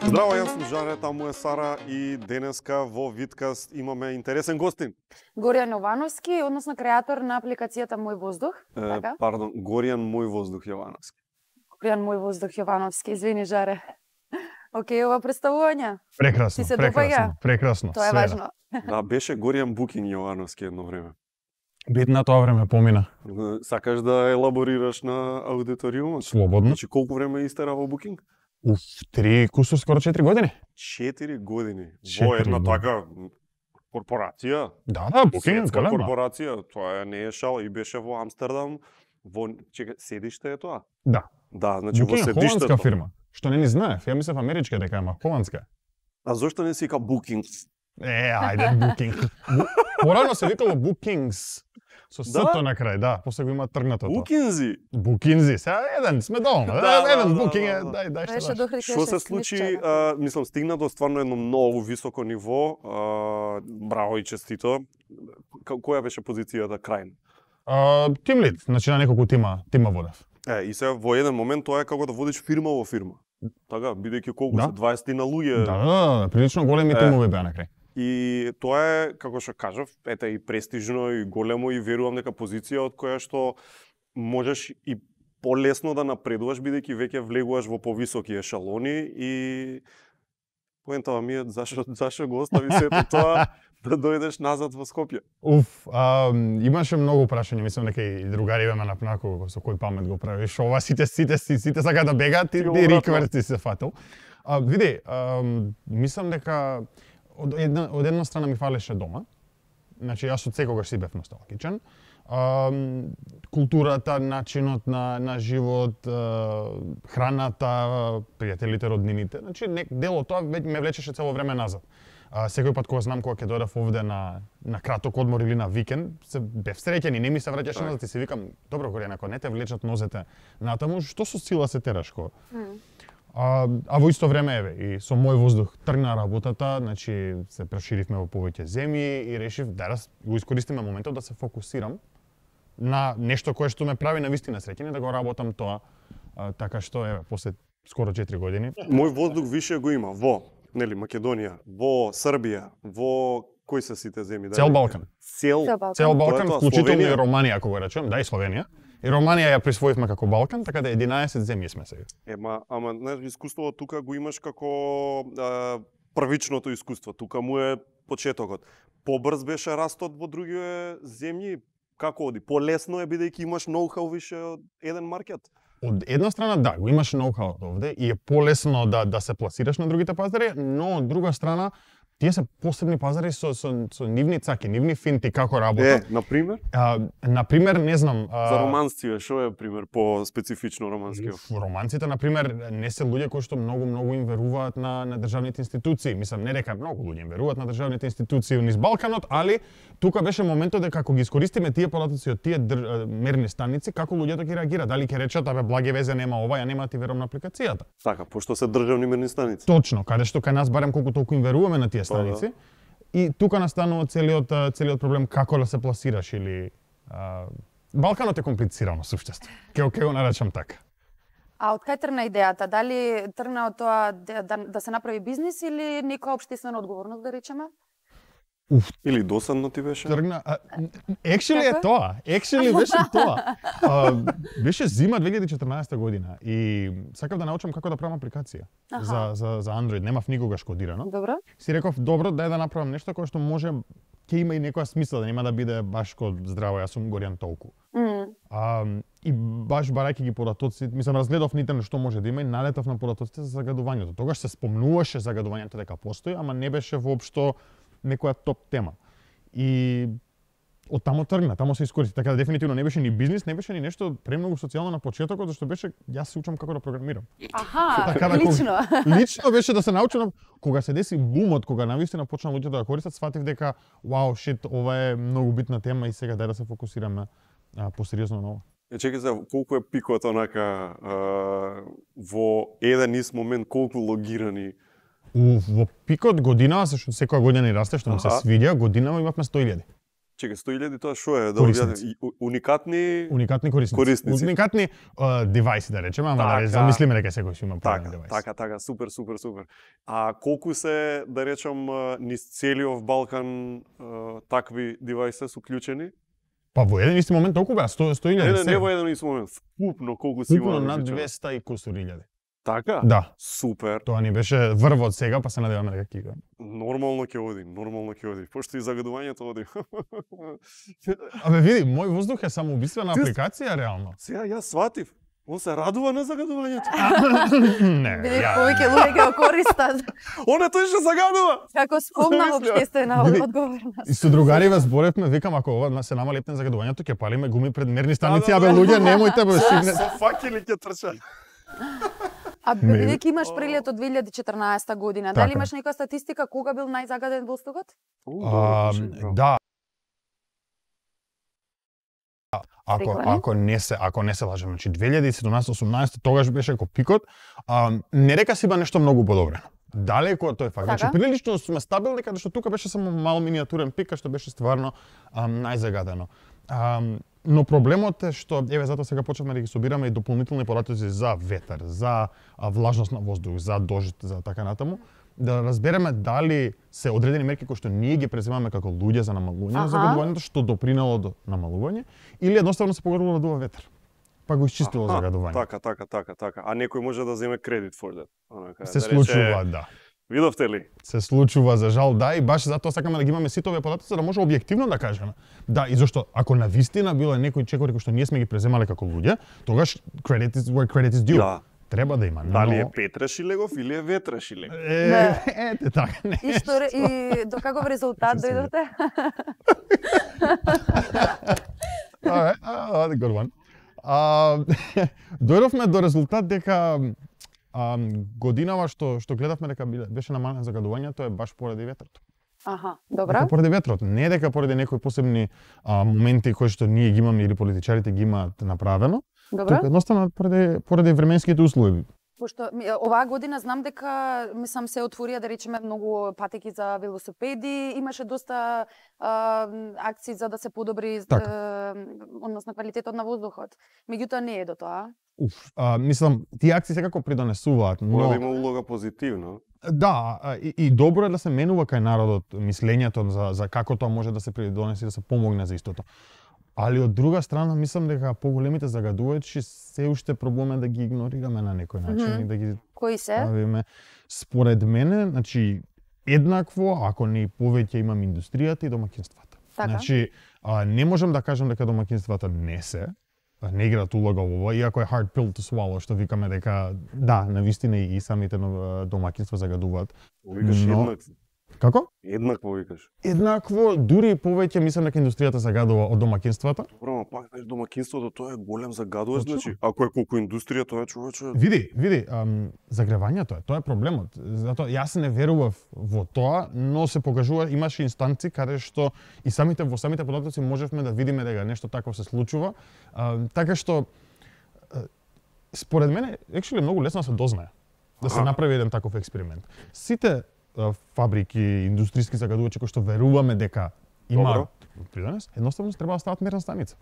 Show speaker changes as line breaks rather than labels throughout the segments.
Здраво, јас сум Жаре, таму е Сара и денеска во Видкаст имаме интересен гостин.
Горијан Јовановски, односно креатор на апликацијата Мој воздух, така?
Пардон, Горијан Мој воздух Јовановски.
Горијан Мој воздух Јовановски, извини Жаре. Океј, ова представување?
Прекрасно,
Ти се
прекрасно, прекрасно.
Тоа е важно.
Да, беше Горијан Букин Јовановски едно време.
Битна тоа време помина.
Сакаш да елаборираш на аудиториумот?
Слободно.
Значи, колку време истера во Букинг?
3 кусур, скоро 4 години.
4 години.
4
Во една
години.
така корпорација.
Да, Букинг
Светска
голема.
корпорација, тоа не е шал и беше во Амстердам. Во седиште е тоа?
Да.
Да, значи
Букинг
во
е холандска
седиштето.
фирма. Што не знаев, ја мислев америчка дека ама холандска.
А зошто не се вика Букинг?
Ајде Букинг. Порано се викало Букингс. Со сето на крај, да, после го има тргнато тоа.
Букинзи.
Букинзи, сега еден сме доволно. Еден Букинг е, дај
Беше
што даш.
дохри
Што се случи, мислам, стигна до стварно едно многу високо ниво. Браво и честито. Која беше позицијата крајна?
Тим лид, значи на неколку тима водев.
И се во еден момент тоа е како да водиш фирма во фирма. Така, бидејќи колку
Да.
се 20 на луѓе.
Да, прилично големи тимови беа на крај.
И тоа е, како што кажав, ете и престижно и големо и верувам дека позиција од која што можеш и полесно да напредуваш бидејќи веќе влегуваш во повисоки ешалони и поентава ми е зашо го остави сето тоа да дојдеш назад во Скопје.
Имаше многу прашања, мислам дека и другари ме напнако со кој памет го правиш. Ова сите сака да бегаат и рикверти се фатил. Види, мислам дека од една страна ми фалеше дома. Значи јас од секогаш си бев носталгичен. Културата, начинот на живот, храната, пријателите, роднините. Значи дел од тоа ме влечеше цело време назад. Секој пат кога знам кога ќе дојдев овде на краток одмор или на викенд, се бев среќен и не ми се враќаше назад и си викам, добро Горијан, ако не те влечат нозете натаму, што со сила се тераш ко? А во исто време еве и со Мој воздух тргна работата, значи се проширивме во повеќе земји и решив да го искористиме моментот да се фокусирам на нешто кое што ме прави навистина среќен и да го работам тоа. Така што еве после скоро 4 години.
Мој воздух више го има во Македонија, во Србија, во кои се сите земји?
Цел Балкан.
Цел
Балкан,
тоа,
вклучително
Словенија?
и Романија, ако го речем, да и Словенија. И Романија ја присвоивме како Балкан, така да 11 земји сме сега.
Ама знаеш, искуството тука го имаш како првичното искуство. Тука му е почетокот. Побрз беше растот во други земји. Како оди? Полесно е бидејќи имаш ноу-хау више од еден маркет?
Од една страна да, го имаш ноу-хау овде и е полесно да се пласираш на другите пазари, но од друга страна тие се посебни пазари со нивни цаки, нивни финти како работат.
Например?
Например, не знам...
За романците, што е пример по специфично романски?
Романците, например, не се луѓе кои што многу им веруваат на државните институции. Мислам, не дека многу луѓе им веруваат на државните институции низ Балканот, али тука беше моментот дека ако ги искористиме тие податоци од тие мерни станици, како луѓето ќе реагираат? Дали ќе речат, абе, благе везе нема ова, ја нема ти верувам на апликацијата.
Така, пошто се државни мерни станици.
Точно, каде што кај нас барем колку толку им веруваме на тие станици. И тука настанува целиот проблем како да се пласираш или Балканот е комплицирано суштество. Ќе го наречам така.
А од кај тргна идејата? Дали тргна од тоа да се направи бизнис или некоја општествена одговорност, да речеме?
Или досадно ти беше?
Тргна. Actually е тоа. Actually беше тоа. Беше зима 2014 година и сакав да научам како да правам апликација за Android. Немав никогаш кодирано.
Добро.
Си реков, добро, дај да направам нешто кое што може ќе има и некоја смисла, да нема да биде баш ко здраво, јас сум Горијан толку. И баш барајќи ги податоци, мислам, разгледав на интернет што може да има и налетав на податоците за загадувањето. Тогаш се спомнуваше загадувањето дека постои, ама не беше воопшто некоја топ тема. И од тамо тргна, тамо се искористи, така да дефинитивно не беше ни бизнис, не беше ни нешто премногу социјално на почетокот, зашто беше јас се учам како да програмирам.
Аха, лично.
Лично беше да се научам, кога се деси бумот, кога навистина почна луѓето да користат, сфатив дека вау, шит, ова е многу битна тема и сега дај да се фокусираме посериозно на ова.
Чекај се, колку е пикот онака во еден ист момент, колку логирани?
Во пикот година, зашто секоја година ни расте, што ми се свиѓа, година имавме 100.000.
Чекај, 100.000 тоа што е? Да
Корисници.
Уникатни
корисници. Уникатни девајси да речеме, ама да замислиме дека секој ќе има правилен девајс.
Така, супер. А колку се, да речам, низ целиот Балкан такви девајси се уклучени?
Па во еден исти момент толку беа 100.000.
Не во еден исти момент. Вкупно колку си има?
Вкупно над 200 и кусур илјади.
Така?
Да.
Супер.
Тоа ни беше врв од сега, па се надеваме дека ќе иде.
Нормално ќе оди. Пошто и загадувањето оди.
Абе види, мој воздух е самоубиствена апликација реално.
Сега јас сватив. Он се радува на загадувањето.
Не.
Види, повеќе луѓе ќе го користат.
Он е тој што загадува.
Како спомна општествена одговорност.
И со другариве зборевме, викам ако ова се намали епне загадувањето, ќе палиме гуми пред мерни станици, абе луѓе немојте бе стигне.
Со факели ќе трчат.
А бидејќи имаш прилет од 2014 година, дали имаш некоја статистика кога бил најзагаден воздухот?
Да. Ако не се лажам, значи 2017-18 тогаш беше како пикот, не река си ба нешто многу подобрено. Далеко од тој факт. Значи прилично сме стабилни, каде што тука беше само мал миниатурен пик, што беше стварно најзагадено. Но проблемот е што, еве затоа сега почнавме да ги собираме и дополнителни податоци за ветер, за влажност на воздух, за дожд, за така натаму, да разбереме дали се одредени мерки кои што ние ги преземаме како луѓе за намалување на загадувањето, што допринело до намалување, или едноставно се погорило да дува ветер. Па го исчистило загадување.
Така. А некој може да земе кредит for that.
Се случува, да.
Видовте ли?
Се случува, за жал, да, и баш затоа сакаме да ги имаме сите овие податоци, за да може објективно да кажеме. Да, и зашто ако навистина било некои чекори кои што ние сме ги преземале како луѓе, тогаш credit is where credit is due.
Да.
Треба да има.
Дали е Петра Шилегов или е Ветра Шилегов?
Ете така, не.
И до каков резултат дојдовте?
Good one. Дојдовме до резултат дека годинава што гледавме дека беше намалено загадувањето е баш поради ветрот.
Добра.
Дека поради ветрот, не дека поради некои посебни моменти кои што ние ги имаме или политичарите ги имаат направено.
Добра.
Едноставно поради временските услови.
Пошто оваа година знам дека се отворија да речеме многу патеки за велосипеди, имаше доста акции за да се подобри односно квалитетот на воздухот. Меѓутоа не е до тоа.
Мислам, тие акции секако придонесуваат, но
мора да има улога позитивно.
Да, и добро е да се менува кај народот мислењето за како тоа може да се придонеси да се помогне за истото. Али од друга страна мислам дека поголемите загадувачи се уште пробуваме да ги игнорираме на некој начин и да ги
кои се?
Ставиме. Според мене, значи еднакво, ако не повеќе имам индустријата и домаќинствата.
Така.
Значи не можам да кажам дека домаќинствата не играат улога во ова, иако е hard pill to swallow, што викаме дека да, навистина и самите домаќинства загадуваат.
Викаш еднакво.
Како?
Еднакво викаш.
Еднакво, дури повеќе мислам дека индустријата загадува од домаќинствата.
Добро, ама пак домаќинството тоа е голем загадувач, значи ако е колку индустрија тоа е човече.
Види, загревањето тоа е проблемот. Затоа јас не верував во тоа, но се покажува имаше инстанци каде што и во самите податоци можевме да видиме дека нешто такво се случува, така што според мене actually многу лесно се дознае да се направи еден таков експеримент. Сите фабрики, индустријски загадувачи кои што веруваме дека имаат придонес, едноставно треба да стават мерна станица.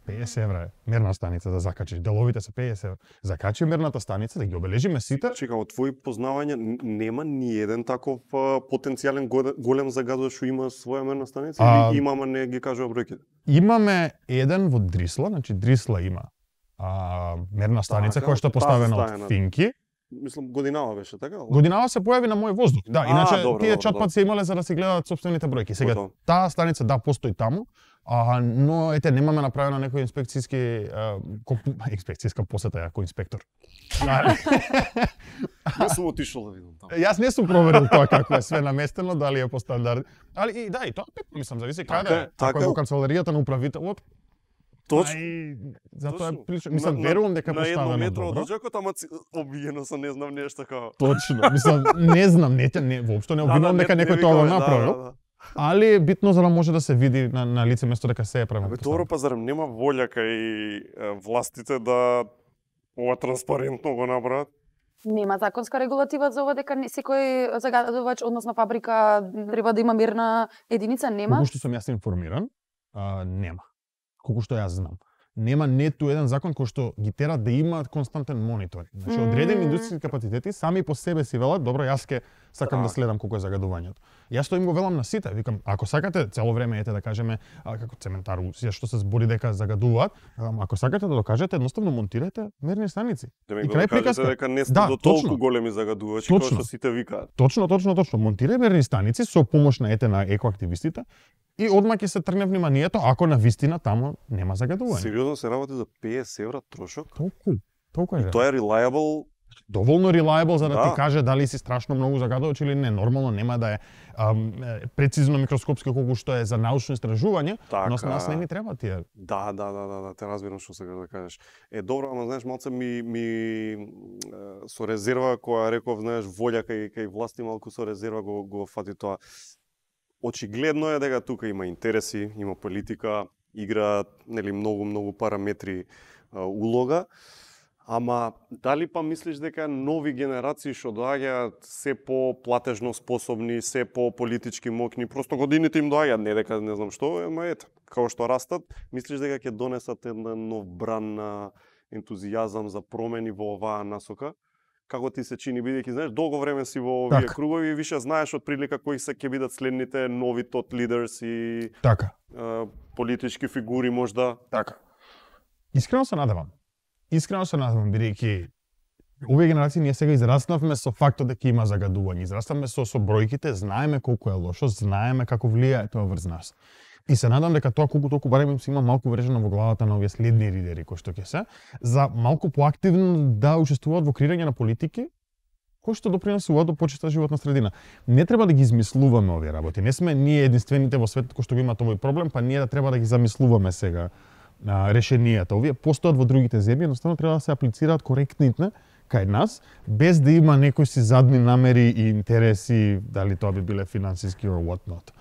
50 евра е мерна станица да закачиш, деловите се 50 евра. Закачи мерната станица, да ги обележиме сите.
Чека, од твои познавања нема ни еден таков потенцијален голем загадувач што има своја мерна станица или имаме не ги кажува бројките?
Имаме еден во Дрисла, значи Дрисла има мерна станица која што е поставена од финки.
Мислам, годинава беше, така?
Годинава се појави на мој воздух. Да, иначе тие чатпат се имале за да се гледаат сопствените бројки. Сега таа станица постои таму, но ете немаме направено некој инспекцијска посета како инспектор.
Не сум отишол да видам таму.
Јас не сум проверил тоа како е све наместено, дали е по стандард. Али и да, и тоа мислам зависи каде. Ако е во канцеларијата на управителот,
точно.
Затоа е прилично. Мислам, верувам дека поставено добро.
На 1 метро од очекот, ама обвиено со не знам нешто како.
Точно. Мислам, не знам, воопшто не обвинувам дека некој тоа го направил. Али е битно за да може да се види на лице место дека се е правилно.
Добро, па зарем нема волја кај властите да ова транспарентно го направат?
Нема законска регулатива за ова дека секој загадувач, односно фабрика треба да има мерна единица, нема?
Колку што сум јас информиран, нема. Колку што јас знам. Нема ниту еден закон кој што ги тера да имаат константен мониторинг. Значи одредени индустријски капацитети сами по себе си велат, добро, јас ке сакам да следам колку е загадувањето. Јас тоа им го велам на сите, викам, ако сакате цело време ете да кажеме како цементар Русија што се збори дека загадуваат, ако сакате да докажете, едноставно монтирајте мерни станици.
И крај приказка дека не сте до толку големи загадувачи како што сите викаат.
Точно. Монтирај мерни станици со помош на екоактивистите. И одма ќе се тргне вниманието ако на вистина таму нема загадување.
Сериозно се работи за 50 евра трошок?
Толку е.
Тоа е reliable.
Доволно reliable за да ти каже дали си страшно многу загадувач или не. Нормално нема да е прецизно микроскопски колку што е за научно истражување, но на нас не ни треба тие.
Да, те разбирам што сакаш да кажеш. Добро, ама знаеш, малце ми со резерва која реков, знаеш, волја кај власти малку со резерва го фати тоа. Очигледно е дека тука има интереси, има политика, играат многу параметри улога, ама дали па мислиш дека нови генерации што доаѓаат се по платежно способни, се по политички мокни, просто годините им доаѓаат, не дека не знам што, ама ете, како што растат, мислиш дека ќе донесат еден нов бран на ентузијазам за промени во оваа насока? Како ти се чини, бидејќи знаеш, долго време си во овие кругови и више знаеш од прилика кои се ќе бидат следните нови тот лидерс и политички фигури можда.
Така. Искрено се надевам, бидејќи овие генерации ние сега израснавме со фактот дека има загадување, израснавме со бројките, знаеме колку е лошо, знаеме како влијае тоа врз нас. И се надам дека тоа колку толку барем им се има малку врежено во главата на овие следни лидери кои што ќе се, за малку поактивно да учествуваат во креирање на политики кои што допринесуваат до почиста животна средина. Не треба да ги измислуваме овие работи. Не сме ние единствените во светот кои што го имаат овој проблем, па ние да треба да ги замислуваме сега решенијата. Овие постојат во другите земји, едноставно треба да се аплицираат коректните кај нас, без да има некои си задни намери и интереси, дали тоа би биле финансиски or what not.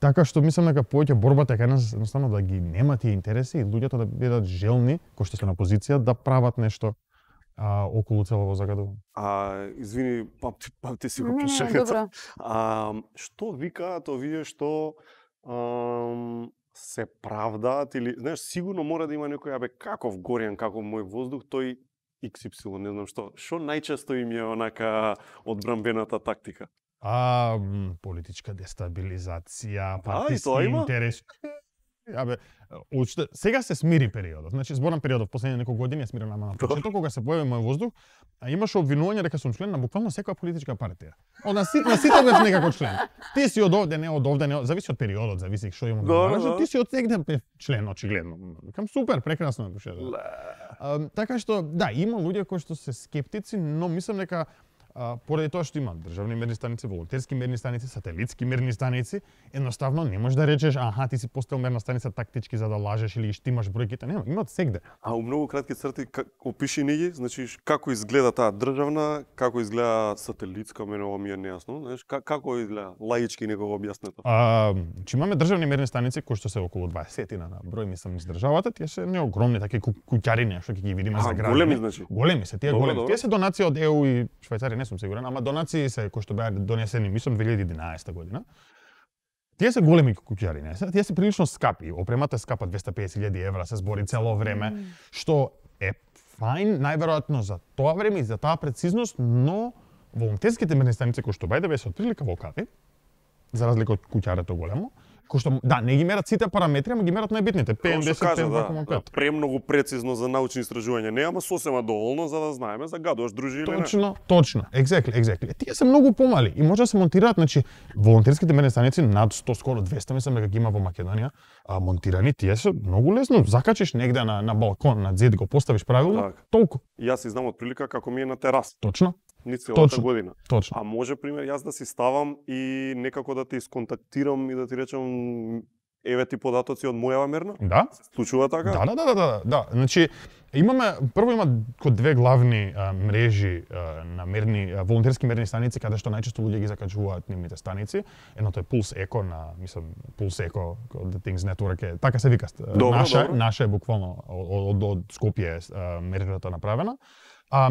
Така што мислам дека повеќе борбата е кај нас едноставно да ги нема тие интереси и луѓето да бидат желни, кои што се на позиција, да прават нешто околу целово загадување.
Извини, памти си го пришегата. Што викаат овие што се правдаат или знаеш, сигурно мора да има некој каков Горјан, каков мој воздух, тој XY, не знам што. Што најчесто им е онака одбранбената тактика?
Политичка дестабилизација, партиски интереси. Сега се смири периодот. Значи, зборам периодот, последните неколку години е смирен, ама на почеток, кога се појави мој воздух, имаше обвинување дека сум член на буквално секоја политичка партија. На сите бев некако член. Ти си од овде, не од овде, не, зависи од периодот, зависи што имам да кажам. Ти си од сегде бев член, очигледно. Кам супер, прекрасно е душе. Така што, да, има луѓе кои што се скептици, но мислам дека поради тоа што има државни мерни станици, волонтерски мерни станици, сателитски мерни станици, едноставно не можеш да речеш, ти си поставил мерна станица тактички за да лажеш или штимаш бројките, нема, имаат сегде.
У многу кратки црти опиши ни ги, значи како изгледа таа државна, како изгледа сателитска, мене ова ми е нејасно, знаеш, како изгледа лаички некого објаснето.
Че имаме државни мерни станици кои што се околу 20 на број, мислам, низ државата, тие се не огромни такви куќариња што ќе ги видиме за градини.
Големи значи.
Големи се, тие големи. Тие се донации од ЕУ и Швајцарија, не сум сигурен, ама донации се кои што беа донесени, мислам 2011 година. Тие се големи куќариња, тие се прилично скапи. Опремата е скапа 250.000 евра, се збори цело време, што е фајн, најверојатно за тоа време и за таа прецизност, но волонтерските мерни станици кои што бајде се отприлика во кави, за разлика од куќарето големо, кои што не ги мерат сите параметри, ама ги мерат најбитните, PM10, PM2,5.
Премногу прецизно за научни истражувања не, ама сосема доволно за да знаеме загадуваш дружи или
не. Точно, exactly. Тие се многу помали и може да се монтираат, значи волонтерските мерни станици над 100, скоро 200, мислам дека ги има во Македонија, монтирани, тие се многу лесно, закачиш негде на балкон, на зид, го поставиш правилно, толку.
Јас си знам од прилика како ми е на терас.
Точно.
Ни целата година.
Точно.
А може, пример, јас да си ставам и некако да те исконтактирам и да ти речам еве ти податоци од мојава мерна?
Да.
Се случува така?
Да. Значи, прво има две главни мрежи на волонтерски мерни станици, каде што најчесто луѓе ги закачуваат нивните станици. Едното е Pulse Eco Pulse Eco The Things Network, така се вика. Наша е буквално од Скопје мрежата направена.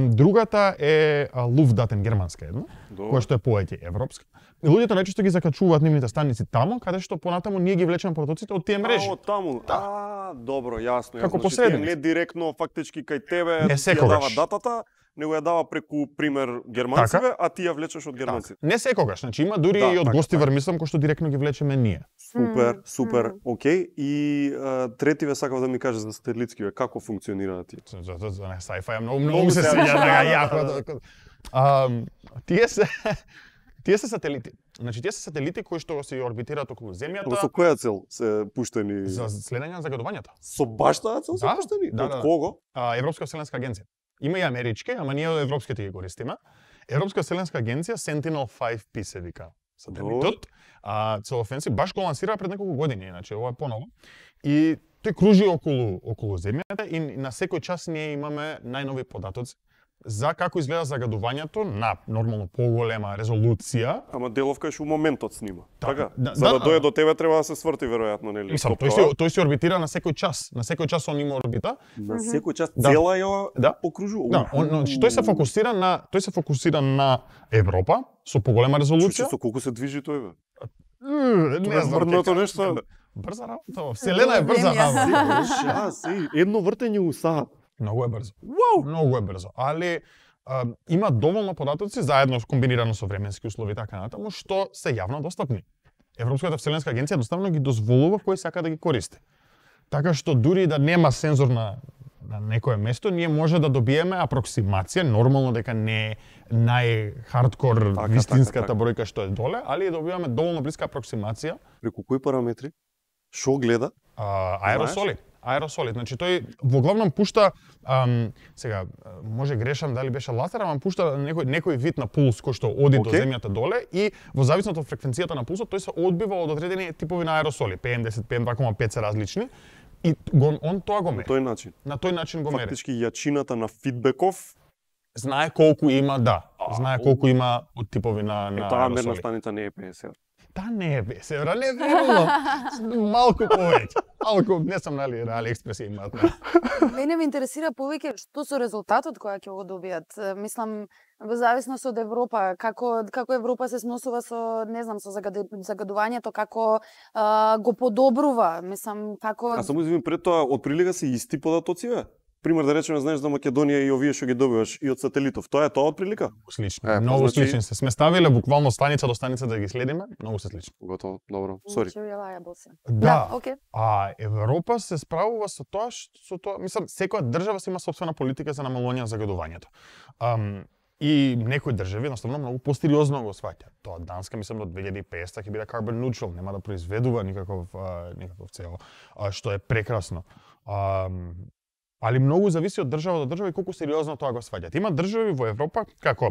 Другата е Luftdaten германска една, која што е повеќе европска. И луѓето најчесто ги закачуваат нивните станици таму, каде што понатаму ние ги влечеме потоците од тие мрежи.
Од таму. Добро, јасно.
Како
Значи,
посредник.
не директно фактички кај тебе
Не
ти ја дава
секогаш.
датата, него ја дава преку пример германциве, а ти ја влечеш од германците.
Не секогаш, значи има дури и од гостивар мислам кои што директно ги влечеме ние.
Супер, окей. И третиве сакав да ми кажеш за сателитскиве, како функционираат тие?
За sci-fi многу се сеќа така јако. Тие се сателити. Значи тие се сателити кои што се орбитираат околу земјата.
Со која цел се пуштени?
За следење на загадувањата.
Со баш таа цел се пуштени? Од кого?
Европска вселенска агенција. Има и амерички, ама ние европските ги користиме. Европска вселенска агенција Sentinel-5P се вика сателитот. Целофенси баш го лансира пред неколку години, значи ова е поново. И тој кружи околу земјата и на секој час ние имаме најнови податоци за како изгледа загадувањето на нормално поголема резолуција.
Ама делов кај што моментот снима. Така?
Да,
За да дојде до тебе треба да се сврти веројатно, нели?
Мислам, тој се орбитира на секој час. На секој час он има орбита.
На секој час цела ја покружува.
Да, тој се фокусира на Европа со поголема резолуција.
Со колку се движи тој бе?
Не знам
врното нешто.
Брза работа, вселена е брза работа.
Едно вртење у саат.
Многу е брзо. Многу е брзо, али има доволно податоци заедно комбинирано со временски услови и така натаму што се јавно достапни. Европската вселенска агенција едноставно ги дозволува кој сака да ги користи. Така што дури да нема сензор на некое место, ние може да добиеме апроксимација, нормално дека не е нај-хардкор вистинската бројка што е доле, али добиваме доволно блиска апроксимација.
Преку кои параметри? Шо гледа?
Аеросоли. Значи тој во главном пушта сега може грешам дали беше лазер, ама пушта некој вид на пулс кој што оди до земјата доле и во зависност од фреквенцијата на пулсот тој се одбива од одредени типови на аеросоли, PM10, PM2,5 се различни и он тоа го мери. На тој начин го мери.
Фактички јачината на фидбеков
знае колку има, знае колку има од типови на аеросоли.
Таа мерна станица не е 50.
Та не е бесевра, не верувам. Малку повеќе. Малку, не сум нали експресија имаат.
Мене ме интересира повеќе што со резултатот која ќе го добијат. Мислам, во зависност од Европа, како Европа се сносува со, не знам, со загадувањето, како го подобрува, мислам, како...
А само извини, пред тоа, од прилика се исти податоци, бе? Пример, да речеме, знаеш за Македонија и овие што ги добиваш и од сателитов. Тоа е тоа од прилика?
Слично. Многу слични се. Сме ставиле буквално станица до станица да ги следиме, многу се слични.
Готово, добро. Сори.
Да. А Европа се справува со тоа мислам, секоја држава си има сопствена политика за намалување на загадувањето. И некои држави едноставно многу посериозно го сваќаат. Тоа Данска мислам до 2050 ќе биде carbon neutral, нема да произведува никаков CO, што е прекрасно. Али многу зависи од држава до држава и колку сериозно тоа го сваќаат. Има држави во Европа како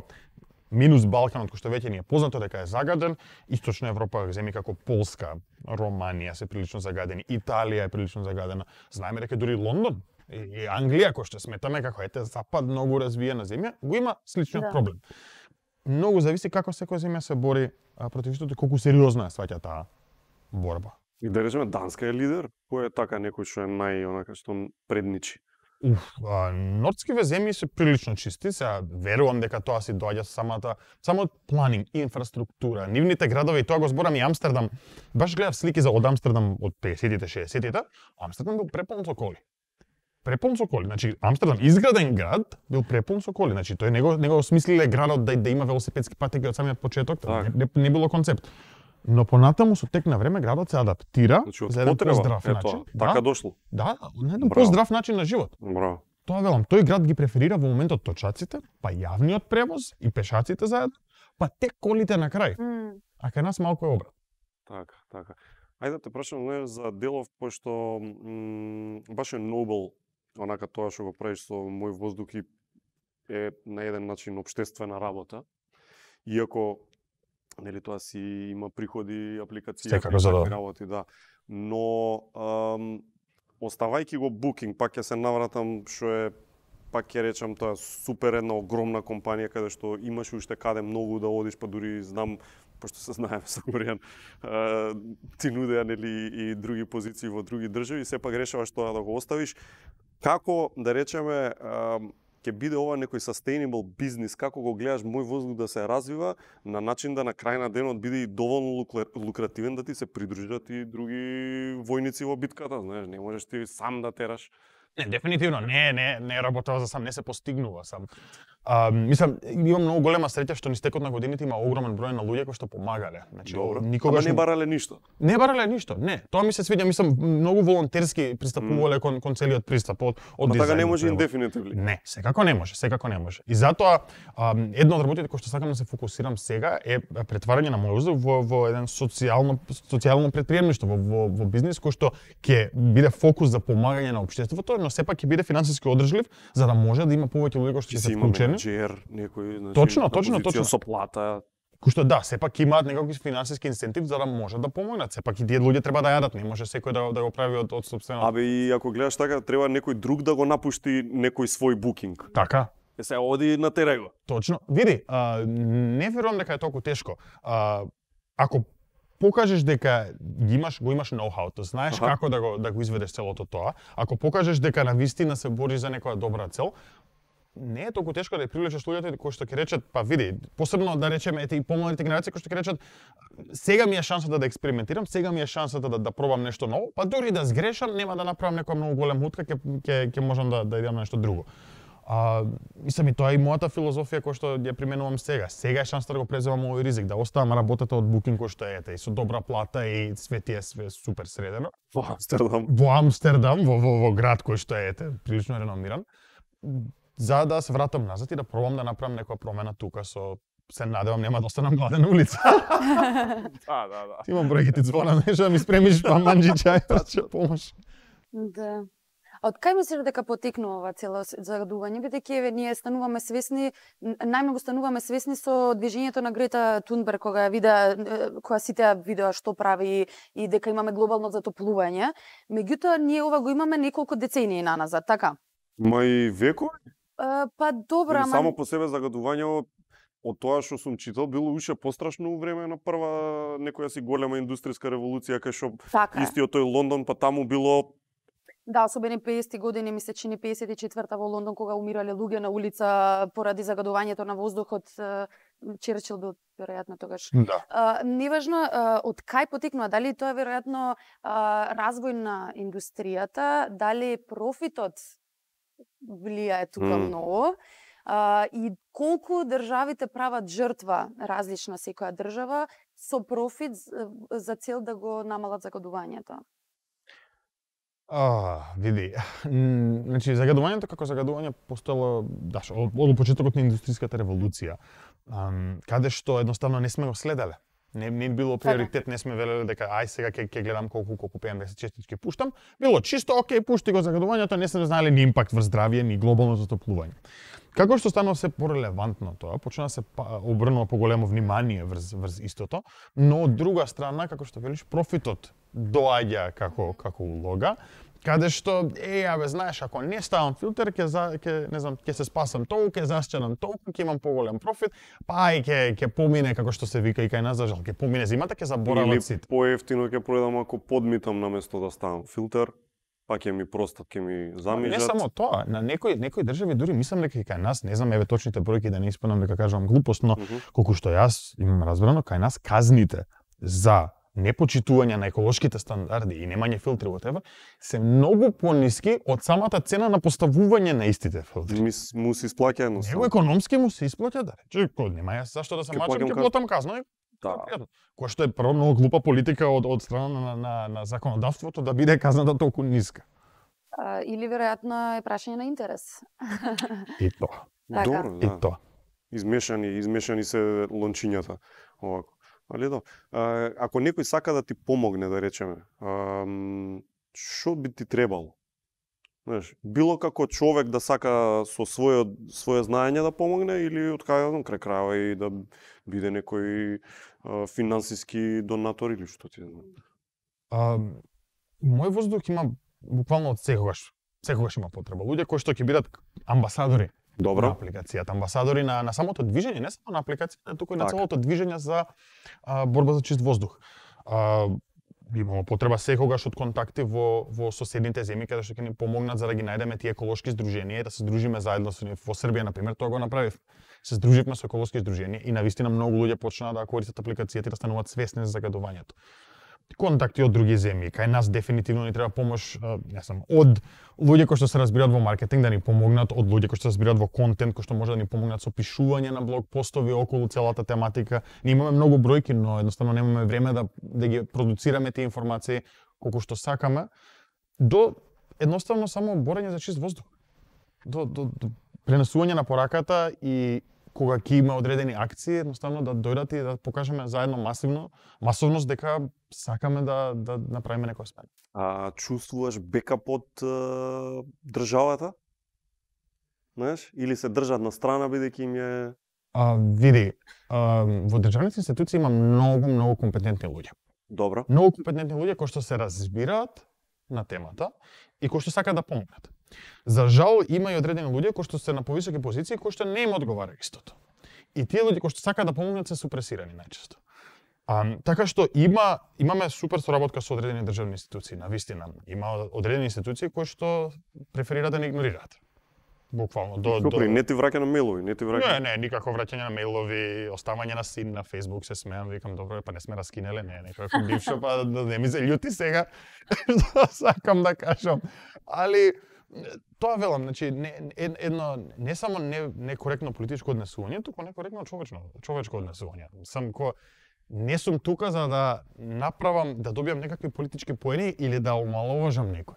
минус Балканот кој што веќе ни е познато дека е загаден, Источна Европа, земји како Полска, Романија се прилично загадени, Италија е прилично загадена. Знаеме дека дури Лондон и Англија кој што сметаме како запад многу развиена земја, го има сличниот проблем. Многу зависи како секоја земја се бори против истото и колку сериозно ја сваќа таа борба.
И да речеме Данска е лидер, кој е така некој што е што предничи.
Нордскиве земји се прилично чисти, сега верувам дека тоа си доаѓа само планинг, инфраструктура, нивните градови, и тоа го зборам и Амстердам. Баш гледав слики од Амстердам од 50-тите, 60-тите, Амстердам бил преполн со коли. Преполн со коли, значи Амстердам изграден град бил преполн со коли, значи тој него осмислиле градот да има велосипедски патеки од самиот почеток, не било концепт. Но понатаму со тек на време градот се адаптира за еден поздрав начин.
Така дошло.
Да, на еден поздрав начин на живот.
Браво.
Тоа велам, тој град ги преферира во моментот точаците, па јавниот превоз и пешаците заедно, па тек колите на крај. А кај нас малку е обрат.
Така. Ајде да те прашам за делов, пошто баш е нобел, онака тоа што го правиш со мој воздух и е на еден начин општествена работа. Иако нели тоа си има приходи, апликација, работи, да. Но оставајќи го Booking, пак ќе се навратам што е пак ќе речам тоа супер една огромна компанија каде што имаш уште каде многу да одиш, па дури знам пошто се знаеме со Горијан, ти нудеа нели и други позиции во други држави, сепак решаваш тоа да го оставиш. Како да речеме ќе биде ова некој sustainable бизнис, како го гледаш мој воздух да се развива на начин да на крај на денот биде и доволно лукративен да ти се придружат и други војници во битката, знаеш, не можеш ти сам да тераш.
Не, дефинитивно, не работава за сам, не се постигнува сам. Мислам, имам многу голема среќа што низ текот на годините има огромен број на луѓе кои што помагале. Значи,
никогаш не барале ништо.
Не барале ништо, не. Тоа ми се свиѓа, мислам, многу волонтерски пристапувале кон целиот пристап од дизајн.
Така не може индефинитивно.
Не, секако не може. И затоа едно од работите кои што сакам да се фокусирам сега е претварање на мојот воздух во еден социјално претприемништво, во бизнис кој што ќе биде фокус за помагање на општеството, но сепак ќе биде финансиски одржлив за да може да има повеќе луѓе кои што ќе се вклучени.
Некој, значи,
точно.
Со плата.
Кој што да, сепак имаат некакви финансиски инцентив за да може да помогнат. Сепак и тие луѓе треба да јадат, не може секој да го прави од сопствено.
И ако гледаш така, треба некој друг да го напушти некој свој букинг.
Така.
Се оди на терего.
Точно. Види, не верувам дека е толку тешко. Ако покажеш дека го имаш ноу-хауто, знаеш како да го изведеш целото тоа, ако покажеш дека навистина се бориш за некоја добра цел, не е толку тешко да ја привлечеш луѓето кои што ќе речат, па види, посебно да речеме и помладите генерации кои што ќе речат, сега ми е шансата да експериментирам, сега ми е шансата да пробам нешто ново, па дури да сгрешам, нема да направам некоја многу голема утка, ќе можам да идам на нешто друго. Мислам и тоа е и мојата филозофија која што ја применувам сега. Сега е шансата да го преземам овој ризик, да оставам работата од букинг кој што е и со добра плата и све супер средено.
Во Амстердам.
Во град кој што е прилично реномиран. За да се вратам назад и да пробам да направам некоја промена тука се надевам нема да останам гладен на улица.
Да.
Ти имам бројки ти звона, нешто да ми спремиш манџи чај, ќе помош.
Да. А од кај мислиш дека потекнува ова цело загадување, бидејќи ние стануваме свесни, најмногу стануваме свесни со движењето на Грета Тунберг кога кога сите ја видеа што прави и дека имаме глобално затоплување. Меѓутоа ние ова го имаме неколку децении наназад, така?
И векови?
Па добро, ама
само по себе загадувањето од тоа што сум читал било уште пострашно во време на прва некоја си голема индустријска револуција кај што истиот тој Лондон, па таму било.
Да, особено 50-ти години, ми се чини 54-та во Лондон, кога умирале луѓе на улица поради загадувањето на воздухот. Черчил бил веројатно тогаш.
Да.
Неважно од кај потекнува, дали тоа е веројатно развој на индустријата, дали профитот влијае тука многу, и колку државите прават жртва различна секоја држава со профит за цел да го намалат загадувањето.
Види, значи загадувањето како загадување постоело од почетокот на индустријската револуција, каде што едноставно не сме го следеле. Не било приоритет, не сме велеле дека ај сега ќе гледам колку PM10 честички пуштам. Било чисто окей, пушти го загадувањето, не сме знаеле ни импакт врз здравје, ни глобално затоплување. Како што станува се порелевантно тоа, почна се обрнува поголемо внимание врз истото, но од друга страна, како што велиш, профитот доаѓа како улога, каде што знаеш, ако не ставам филтер, ќе се спасам толку, ќе засчанам толку, ќе имам поголем профит, па ќе помине како што се вика и кај нас за жал, ќе помине зимата, ќе заборават сите.
Или поевтино ќе пројдам ако подмитам наместо да ставам филтер, па ќе ми простат, ќе ми замижат.
Не само тоа, на некои држави дури мислам дека и кај нас, не знам точните бројки да не испадам дека кажувам глупост, но колку што јас имам разбрано, кај нас казните за непочитување на еколошките стандарди и немање филтри whatever се многу пониски од самата цена на поставување на истите филтри.
Му се исплаќа едноставно.
Него економски му се исплаќа, да рече, нема јас зашто да се мачам, ќе платам казна. Кој што е прво многу глупа политика од страна на законодавството да биде казната толку ниска.
Или веројатно е прашање на интерес.
И тоа.
Добро,
да. И тоа.
Измешани се лончињата овако. Али да. Ако некој сака да ти помогне, да речеме, што би ти требало? Знаеш, било како човек да сака со свое знаење да помогне или од крај крајава и да биде некој финансиски донатор или што ти знам?
Мој воздух има буквално од секогаш има потреба. Луѓе кои што ќе бидат амбасадори.
Добро.
На апликацијата, амбасадори на самото движење, не само на апликацијата, туку и на целото движење за борба за чист воздух. имamo потреба секогаш од контакти во соседните земји каде што ќе ни помогнат за да ги најдеме тие еколошки здруженија и да се здружиме заедно со нив. Во Србија на пример тоа го направив. Се здруживме со еколошки здруженија и навистина многу луѓе почнаа да користат апликацијата и да стануваат свесни за загадувањето. Контакти од други земји, кај нас дефинитивно ни треба помош, не знам, од луѓе кои што се разбираат во маркетинг да ни помогнат, од луѓе кои што се разбираат во контент, кои што може да ни помогнат со пишување на блог постови околу целата тематика. Ние имаме многу бројки, но едноставно немаме време да ги продуцираме тие информации колку што сакаме, до едноставно само борење за чист воздух. До пренесување на пораката и кога ќе има одредени акции, едноставно да дојдат и да покажеме заедно масовност дека сакаме да направиме некоја смена.
А чувствуваш бекап од државата? Знаеш, или се држат на страна бидејќи им е
Види, во државните институции има многу компетентни луѓе.
Добро.
Многу компетентни луѓе кои што се разбираат на темата и кои што сакаат да помогнат. За жал има и одредени луѓе кои што се на повисоки позиции кои што не им одговара истото. И тие луѓе кои што сакаат да помогнат се супресирани најчесто. Така што имаме супер соработка со одредени државни институции, навистина. Има одредени институции кои што преферираат да не игнорираат. Буквално
не ти враќа на мејлови, не ти враќа.
Не, никако враќање на мејлови, оставање на син на Facebook, се смеам, викам добро, па не сме раскинеле, некој бившо, па не ми се љути сега. Што сакам да кажам. Али тоа велам, значи едно не само некоректно политичко однесување, туку некоректно човечко однесување. Не сум тука за да направам, да добијам некакви политички поени или да омаловажам некој.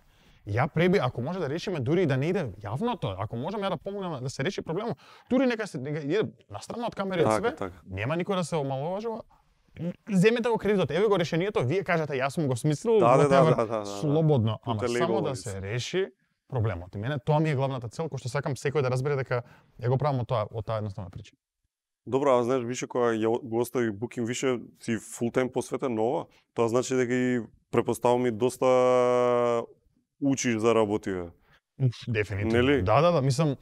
Ја преби, ако може да решиме, дури и да не иде јавното, ако можам ја да помогнам да се реши проблемот, дури нека иде настрана од камери од све, нема никој да се омаловажува. Земете го кредитот, еве го решението, вие кажете јас сум го смислил, слободно, ама само да се реши проблемот. И мене тоа ми е главната цел, кој што сакам секој да разбере дека ја го правам од таа едноставна причина.
Добро, а знаеш више кога го остави Booking више си фул тајм посветен на ова, тоа значи дека и препоставам и доста учиш за работи.
Дефинитивно.
Нели?
Да, мислам,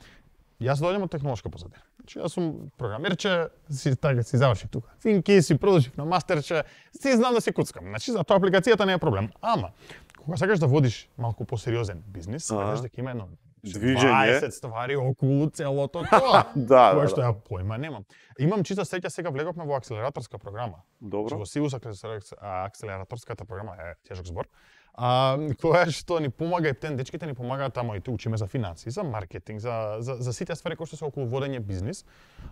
јас доаѓам од технолошка позадина. Значи јас сум програмерче, си завршив тука. Финки, си продолжив на мастерче, си знам да си куцкам. Значи за тоа апликацијата не е проблем. Ама кога сакаш да водиш малку посериозен бизнис, сакаш дека има едно 20 ствари околу целото тоа. Кој што ја појма немам. Имам чиста среќа, сега влеговме во акселераторска програма.
Добро.
Во Сивус акселераторската програма е тежок збор. Која што ни помага, ептен дечките ни помагаат тамо и учиме за финанси, за маркетинг, за сите ствари кои што се околу водење бизнис,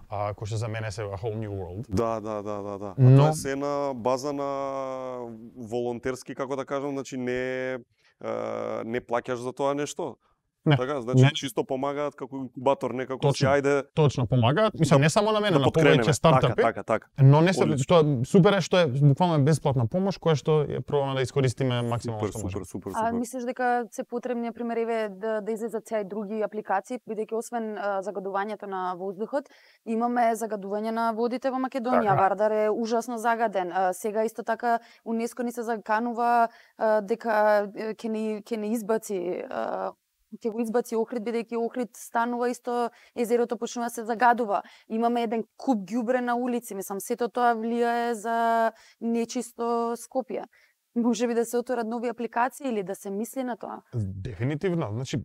кои што за мене се a whole new world.
Да. Тоа се на база на волонтерски, како да кажам, значи не плаќаш за тоа нешто.
Не,
така, значи чисто помагаат како инкубатор, некако си ајде.
Точно помагаат, мислам не само на мене, на повеќе стартапи.
Така.
Но не се што супер е што е буквално бесплатна помош која што ја пробаме да искористиме максимално што можеме.
Супер.
А мислиш дека се потребни на пример да излезат сега и други апликации, бидејќи освен загадувањето на воздухот, имаме загадување на водите во Македонија. Вардар е ужасно загаден. Сега исто така УНЕСКО ни се заканува дека ќе не избаци ќе го избаци Охрид, бидејќи Охрид станува исто, езерото почнува да се загадува. Имаме еден куп ѓубре на улици, мислам, сето тоа влијае за нечисто Скопје. Може би да се отворат нови апликации или да се мисли на тоа?
Дефинитивно. Значи,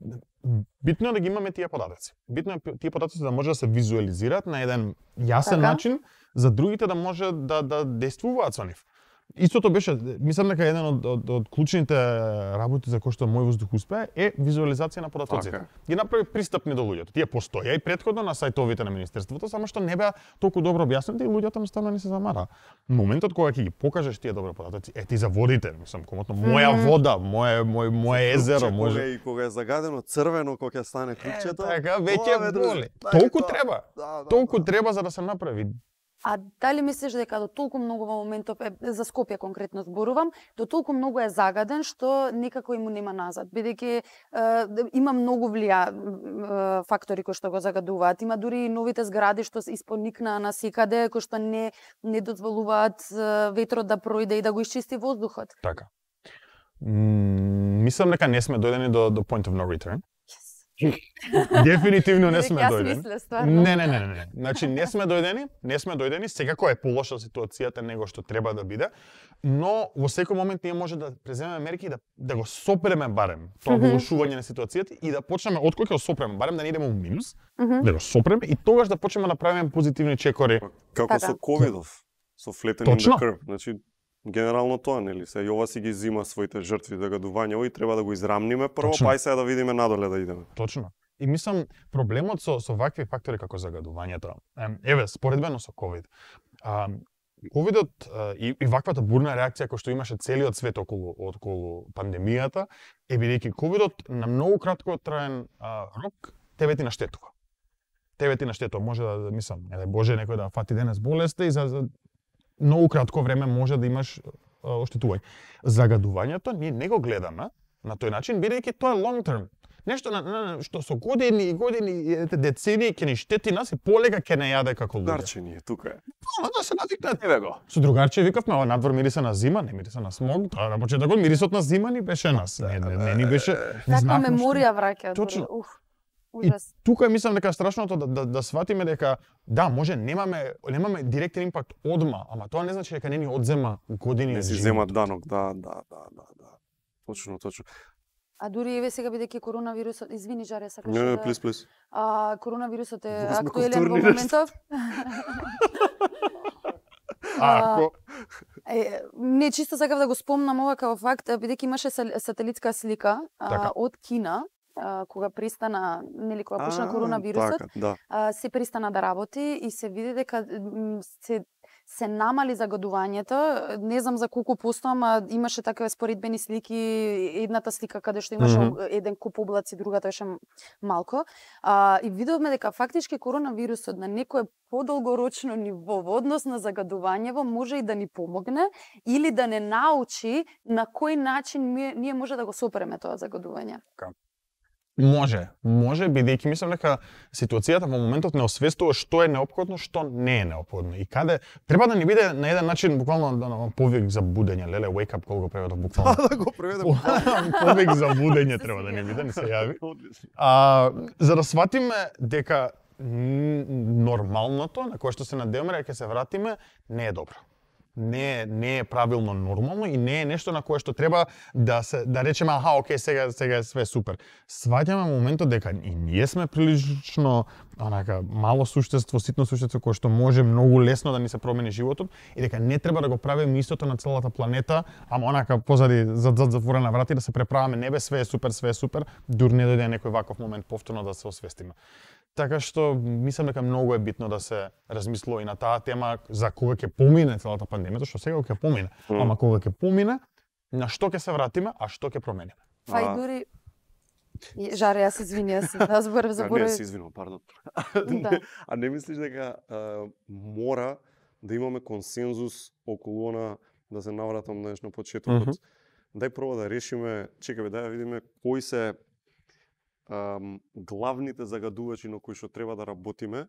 битно е да ги имаме тие податоци. Битно е тие податоци да може да се визуализираат на еден јасен начин, за другите да може да действуваат со нив. Истото беше, мислам дека еден од клучните работи за кои што мој воздух успеа е визуализација на податоците. Ги направи пристапни до луѓето. Тие постоја и претходно на сајтовите на министерството, само што не беа толку добро објаснети и луѓето едноставно не се замара. Моментот кога ќе ги покажеш тие добри податоци, ти за водите, мислам, комотно моја вода, моје езеро, може
и кога е загадено црвено, кога ќе стане клучето.
Така веќе боли. Толку треба. Толку треба за да се направи.
А дали мислиш дека до толку многу во моментов, за Скопје конкретно зборувам, до толку многу е загаден што некако му нема назад, бидејќи има многу фактори кои што го загадуваат. Има дури и новите згради што се испоникнаа насекаде, кои што не дозволуваат ветрот да пројде и да го исчисти воздухот.
Така. Мислам дека не сме дојдени до point of no return. Дефинитивно не сме
Јас
дојдени.
мисле, стварно.
Не. Значи не сме дојдени, секако е полоша ситуацијата него што треба да биде, но во секој момент ние може да преземеме мерки и да го сопреме барем тоа влошување на ситуацијата и да почнеме откој ќе го сопреме, барем да не идеме у минус, да го сопреме и тогаш да почнеме да правиме позитивни чекори.
Како со ковидов, со flatten in the curve. Значи генерално тоа, нели, се Јова си ги зима своите жртви загадувања и треба да го израмниме прво, па и сега да видиме надоле да идеме.
Точно. И мислам, проблемот со вакви фактори како загадувањето, еве, споредбено со ковид, ковидот и ваквата бурна реакција која што имаше целиот свет околу пандемијата, е бидејќи ковидот на многу краткотраен рок тебе ти наштетува. Може да мислам, не дај Боже некој да фати денес болест и за многу кратко време може да имаш оштетување. Загадувањето ние не го гледаме на тој начин, бидејќи тоа е long term. Нешто што со години децении ќе ни штети нас и полека ќе не јаде како луѓе.
Другарче тука е.
Да се навикнат, еве го. Со другарче викавме, ова надвор мириса на зима, не мириса на смог, тоа на почетокот мирисот на зима ни беше нас. Не ни беше.
Таква меморија враќа.
Точно.
И
тука мислам дека страшното да сватиме дека да, може немаме директен импакт одма, ама тоа не значи дека не ни одзема години.
Не си зема данок, да. Точно.
А дури еве сега бидејќи коронавирусот, извини Жаре, сакаш
да... Не, плиз.
Коронавирусот е актуелен во моментов. Не, чисто сакав да го спомнам ова како факт, бидејќи имаше сателитска слика од Кина, кога пристана, нели кога почна коронавирусот, се пристана да работи и се види дека се намали загадувањето, не знам за колку посто, ама имаше такива споредбени слики, едната слика каде што имаше еден куп облаци, другата беше малко. И видовме дека фактички коронавирусот на некое подолгорочно ниво во однос на загадувањево може и да ни помогне или да не научи на кој начин ние може да го сопреме тоа загадување.
Може, бидејќи мислам дека ситуацијата во моментот не освестува што е неопходно, што не е неопходно. И каде треба да ни биде на еден начин буквално повик за будење, леле wake up кога го преведов буквално.
Да го преведам.
Повик за будење треба да ни биде, не се јави. За да сватиме дека нормалното на кое што се надеваме дека ќе се вратиме не е добро. Не е правилно нормално и не е нешто на кое што треба да речеме окей, сега е све супер. Сваќаме моментот дека и ние сме прилично мало суштество, ситно суштество кое што може многу лесно да ни се промени животот и дека не треба да го правиме истото на целата планета, ама позади зад затворена врата и да се преправаме небе, све е супер, дур не дојде некој ваков момент повторно да се освестиме. Така што мислам дека многу е битно да се размислува и на таа тема за кога ќе помине целата пандемија, што сега ќе помине. Ама кога ќе помине, на што ќе се вратиме, а што ќе промениме.
Па и дури Жаре, јас извини, заборав.
Не, си извинувам, пардон. А не мислиш дека мора да имаме консензус околу она, да се навратам на почетокот. Дај прво да решиме, чекаме да видиме кои се главните загадувачи на кои што треба да работиме,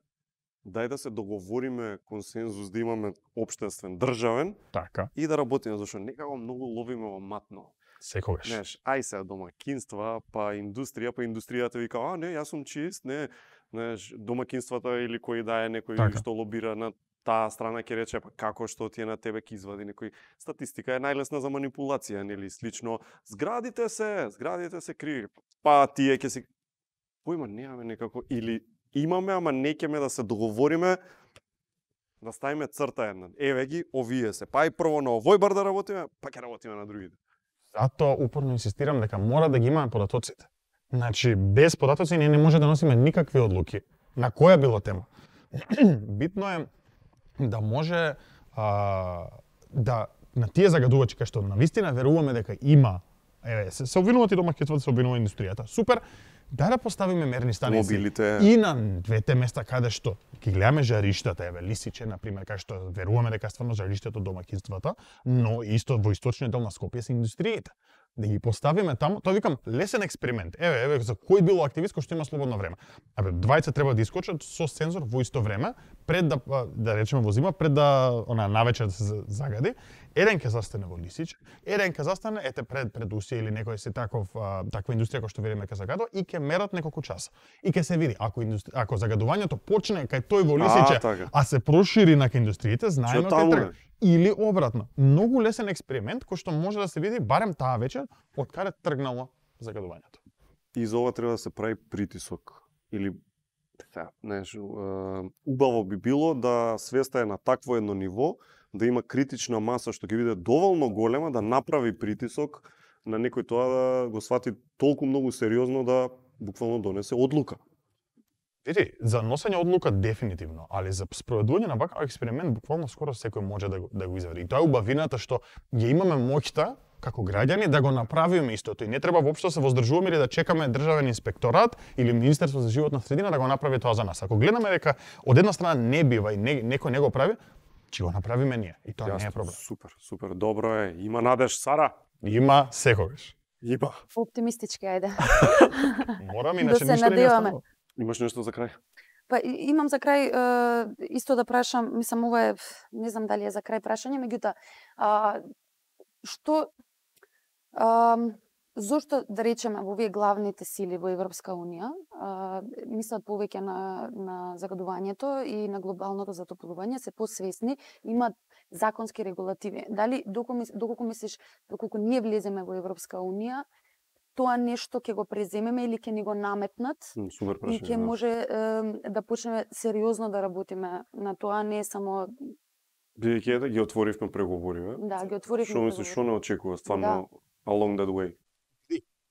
дај да се договориме консензус, да имаме општествен, државен,
така, и
да работиме, зашто некако многу ловиме во матно.
Секогаш.
Знаеш, ај се домакинства, па индустријата вика, не, јас сум чист, не, знаеш, домакинствата или кој да е некој така, што лобира на таа страна ќе рече, па како што ти е на тебе ќе извади некој. Статистика е најлесна за манипулација, нели, слично, зградите се криви, па тие ќе се појма немаме некако, или имаме, ама не ќеме да се договориме, да ставиме црта една. Еве ги, овие се, па и прво на овој бар да работиме, па ќе работиме на другите.
Затоа упорно инсистирам дека мора да ги имаме податоците. Значи, без податоци ние не може да носиме никакви одлуки, на која било тема. Битно е да може да на тие загадувачи кај што навистина веруваме дека има, се обвинуваат и домакинствата, се обвинува индустријата. Супер, да поставиме мерни станици
мобилите
и на двете места каде што ќе гледаме жариштата, Лисиче на пример, кај што веруваме дека стварно жариштето домакинствата, но исто во источниот дел на Скопје се индустриите. Да ги поставиме таму, тоа викам лесен експеримент. Еве за кој било активист кој што има слободно време. Двајца треба да искочат со сензор во исто време, пред да речеме во зима, пред да навечер да се загади, Еден ќе застане во Лисич, еден ќе застане пред Усија или некој си таква индустрија која што вериме ќе загадува и ќе мерат неколку часа. И ќе се види ако загадувањето почне кај тој во Лисиче, а се прошири на индустриите, знаеме кај трга. Или обратно. Многу лесен експеримент кој што може да се види барем таа вечер од каде тргнало загадувањето.
И за ова треба да се прави притисок или убаво би било да свеста е на такво едно ниво, да има критична маса што ќе биде доволно голема да направи притисок на некој тоа да го свати толку многу сериозно да буквално донесе одлука.
Види, за носење одлука дефинитивно, али за спроведување на ваков експеримент буквално скоро секој може да го извади. И тоа е убавината што ја имаме моќта како граѓани да го направиме истото и не треба воопшто да се воздржуваме или да чекаме државен инспекторат или Министерство за животна средина да го направи тоа за нас. Ако гледаме дека од една страна не бива и некој не го прави, ќе го направиме ние и тоа не е проблем.
Супер, добро е. Има надеж, Сара?
Има секогаш.
Има.
Оптимистички, ајде.
Морам, иначе ништо не останува.
Имаш нешто за крај?
Па имам за крај исто да прашам, мислам ова е, не знам дали е за крај прашање, меѓутоа што зошто да речеме во овие главните сили во Европска унија мислат повеќе на загадувањето и на глобалното затоплување, се посвесни, имат законски регулативи. Дали доколку мислиш доколку ние влеземе во Европска унија, тоа нешто ќе го преземеме или ќе ни го наметнат
Супер прашање,
и ќе може да почнеме сериозно да работиме на тоа, не само
бидејќи да ги отворивме преговори, бе?
Да, ги отворивме.
Што мислиш, што не очекува стварно along that way?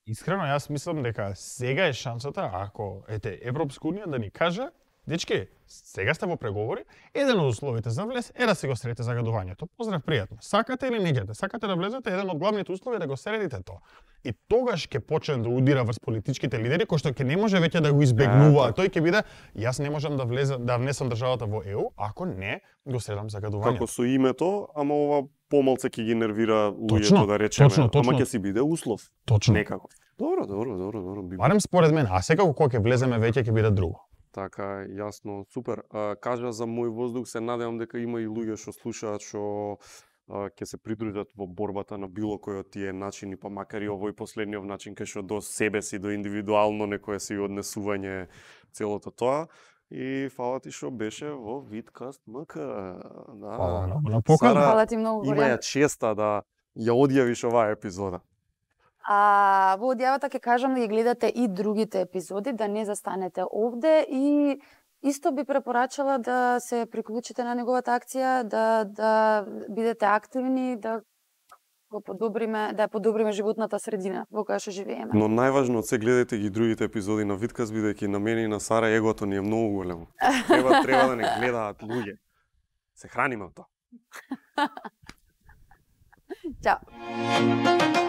Искрено, јас мислам дека сега е шансата, ако Европска унија да ни каже, дечки, сега сте во преговори, еден од условите за влез е да си го средите загадувањето. Поздрав, пријатно. Сакате или не ѓете? Сакате да влезете, еден од главните услови е да го средите тоа. И тогаш ќе почне да удира врз политичките лидери, кои што ќе не може веќе да го избегнува. Тој ќе биде, јас не можам да внесам државата во ЕУ, ако не го средам загадувањето.
Како со името, ама ова помалце ќе ги нервира луѓето, да речеме, ама ќе си биде услов.
Точно.
Некако. Добро.
Барем според мен, а секако кога ќе влеземе веќе ќе биде друго.
Така, јасно, супер. Кажа за мој воздух, се надевам дека има и луѓе што слушаат, што ќе се придружат во борбата на било кој од тие начини, па макар и овој последниот начин кај што до себе си, до индивидуално некое си однесување целото тоа. И фала ти што беше во Видкаст МК. Да.
Фала ти многу.
Има ја честа да ја одјавиш оваа епизода.
Во одјавата ќе кажам да ги гледате и другите епизоди, да не застанете овде и исто би препорачала да се приклучите на неговата акција, да бидете активни, да ја подобриме животната средина во која што живееме.
Но најважно од се гледате ги другите епизоди на Видкаст, бидејќи на мене и на Сара егото ни е многу големо. Треба да не гледаат луѓе. Се храниме од тоа.
Чао.